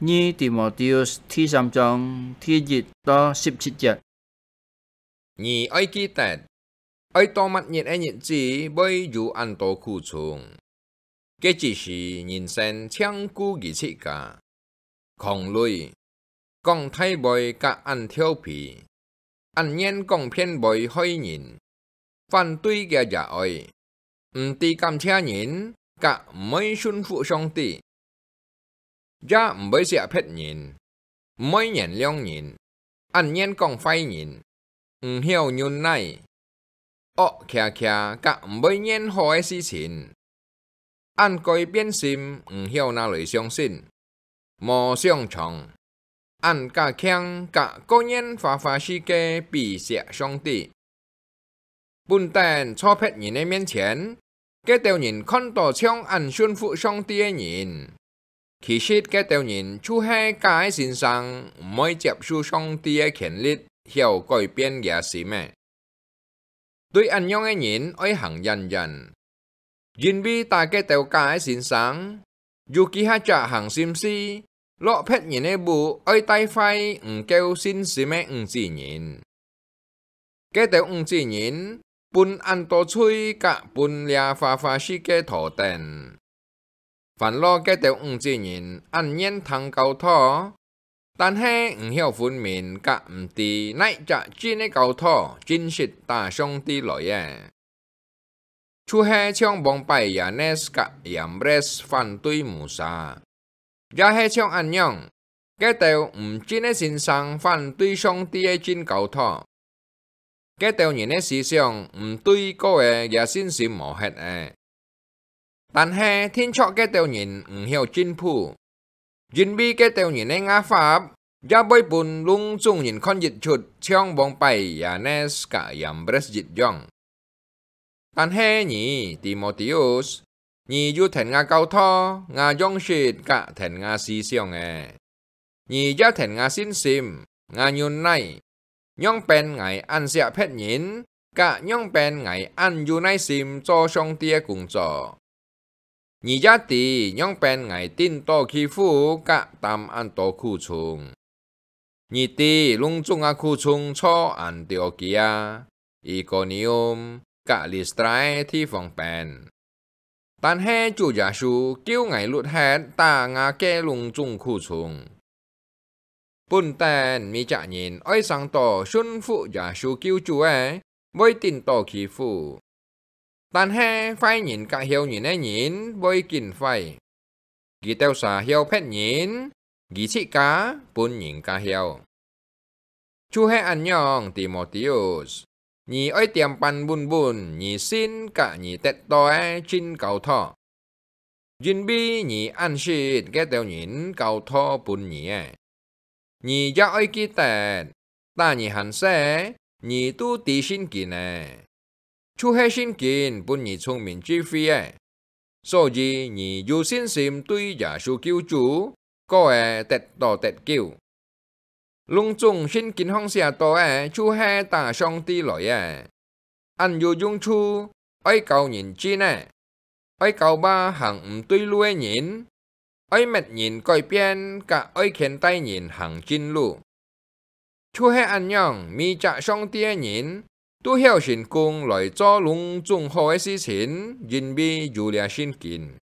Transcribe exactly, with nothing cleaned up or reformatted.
二提摩太第三章第一到十七節。你愛記得，愛到麼日个日子會有恁多苦衷。該之時人生淨顧佢自家，狂戾，講大話甲恁調皮，恁願講騙話害人，反對佢也愛，毋知感謝人，甲毋會順服上帝，也毋會惜別人，毋會原諒人，恁願講壞人，毋曉忍耐，惡擎擎甲毋會願好个事情，恁改變心毋曉拿來相信，無想像，恁加強甲各樣花花世界比惜上帝。本等坐別人个面前，該兜人看到像恁順服上帝个人，其實該兜人就係假个先生，毋會接受上帝个權力，曉改變厥心个。對恁樣个人愛行遠遠，因為打該兜假个先生，有幾下隻行心思，落別人个屋愛帶壞毋夠信心个五子人。該兜五子人分恁多罪甲分這花花世界拖等。 煩惱該兜五子人恁願聽教導，但係毋曉分明甲毋知哪隻真个教導真實打上帝來个。就係像往擺Yanes甲Yambres反對Musa，也係像恁樣，該兜毋真个先生反對上帝个真教導。 該兜人个思想毋對過个，厥信心無忒个。但係定著該兜人毋曉進步，因為該兜人个牙法也會分攏總人看一出，像往擺Yanes甲Yambres一樣。但係你，提摩太，你有聽𠊎教導，𠊎樣式甲聽𠊎思想个， 你也聽𠊎信心，𠊎忍耐，仰般𠊎恁惜別人，甲仰般𠊎恁有耐心做上帝个工作。你也知仰般𠊎頂到欺負甲擔恁多苦衷。你知攏總个苦衷在Antiokia、Ikonium甲Listra个地方邊。 但係主耶穌救𠊎脫忒打𠊎个攏總苦衷。本等每隻人愛生到順服耶穌救主个，會頂到欺負。但係壞人甲曉人个人會緊壞，佢兜儕曉別人，佢自家分人家曉。 就係恁樣，提摩太，你愛恬板穩穩你信甲你得到个真教導，因為你恁識該兜人教導分你个。你也愛記得，打你還細，你都知聖經个，就係聖經分你聰明智慧个。 所以你有信心對耶穌救主，過會得到得救。攏總聖經項寫到个，就係打上帝來个。恁有用處，愛教人進个，愛教化行毋對路个人，愛搣人改變，甲愛牽帶人行正路。 就係恁樣，每隻上帝个人都曉成功來做攏總好个事情，因為有這聖經。